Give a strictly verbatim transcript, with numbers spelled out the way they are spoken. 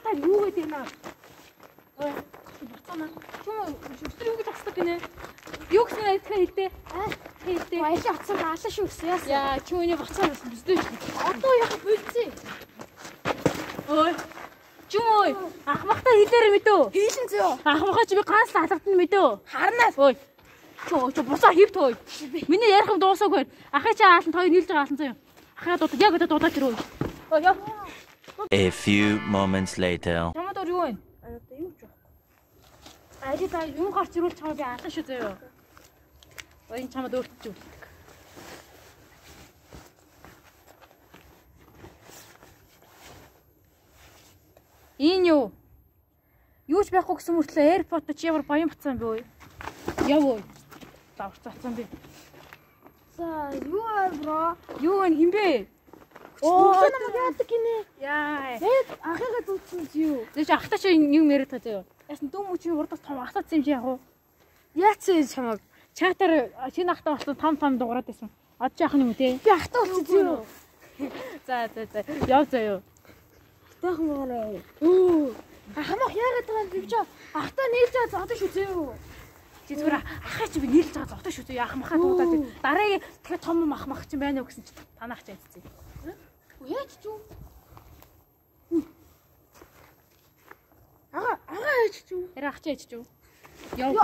та юу гэдэг юм аа? Ой, буцаана. Чүм шүртэр юу гэж асуух гинэ? Юу гэсэн айтхаа хэлдэ? Аа, хэлдэ. Баялаа утсан хаалаа шүрсэн яасан. Яа, чүмний буцаа болсон бүсдэж. Одоо яг болцсон. Ой. Чүм ахмахта хэлээр мэдөө. Хийлэн зөө. Ахмахаа чи би ганц л алгад нь мэдөө. Харнаа. Ой. Чөө чөө буцаа хийвт хөөе. Миний ярих юм дуусаагүй. Ахаа чи аалан хоёр нийлж байгаа аалан заяа. Ахаа дуудаад яг одоо дуудаад ирөө. Ой яа. A few moments later. Чамд өөр юу вэ? Одоо юу ч вэ? Ажид та юм гарч ирүүл чамаа би алан шүү заяа. Ой энэ чамд өөрт ч үлддэг. Энэ юу? Юу ч байхгүй гэсэн мөртлөө AirPod чи ямар баян бацсан бэ? Яв ой. Давч цацсан би. За юу аа бро? Юу вэ хинбэ? Оо намайг яадаг гинэ. Яа. Тэгэд ахыгаа дүүцсэн юу? Тэгэж ахта чи юм яриад байгаа заяа. Яасан дүү мөчийн урдаас том асаац юм чи яг уу? Яац чамаг. Чатаар шинэ ахта болсон том том дуурайд байсан. Од яах юм те? Би ахтаа болчихсон юу? За за за. Яв заяа. Ахтаах мөрөө. Оо. Ахмах яагаад байгаа юм би ч ахтаа нийлж байгаа зодож шүү зөө. Чи зүгээр ахаа чи би нийлж байгаа зогтоо шүү зөө. Ахмахаа дуудаад. Дараагийн тэгэхээр том махмах чинь байна уу гэсэн чи танах ч айдцээ. Яаж ч юу? Ага, ага яаж ч юу? Ярах ч айдч юу? Яв.